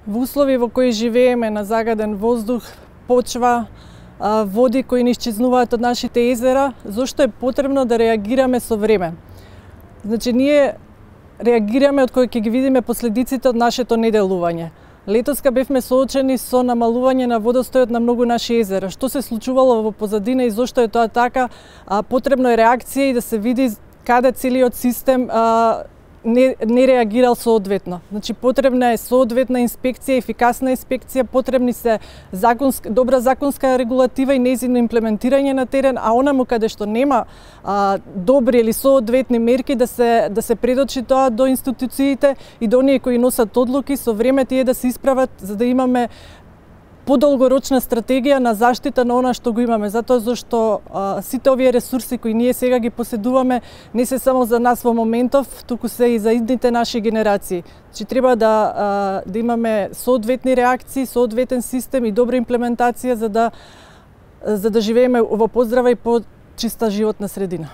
Во услови во кои живееме, на загаден воздух, почва, води кои ни исчезнуваат од нашите езера, зошто е потребно да реагираме со време? Значи, ние реагираме од кога ќе ги видиме последиците од нашето неделување. Летоска бевме соочени со намалување на водостојот на многу наши езера. Што се случувало во позадина и зошто е тоа така? Потребно е реакција и да се види каде целиот систем не реагирал соодветно. Значи, потребна е соодветна инспекција, ефикасна инспекција, потребни се добра законска регулатива и нејзино имплементирање на терен, а онаму каде што нема добри или соодветни мерки да се предочи тоа до институциите и до оние кои носат одлуки, со време тие да се исправат за да имаме подолгорочна стратегија на заштита на она што го имаме, затоа зашто сите овие ресурси кои ние сега ги поседуваме не се само за нас во моментов, туку се и за идните наши генерации. Значи, треба да имаме соодветни реакции, соодветен систем и добра имплементација за да живееме во поздрава и почиста животна средина.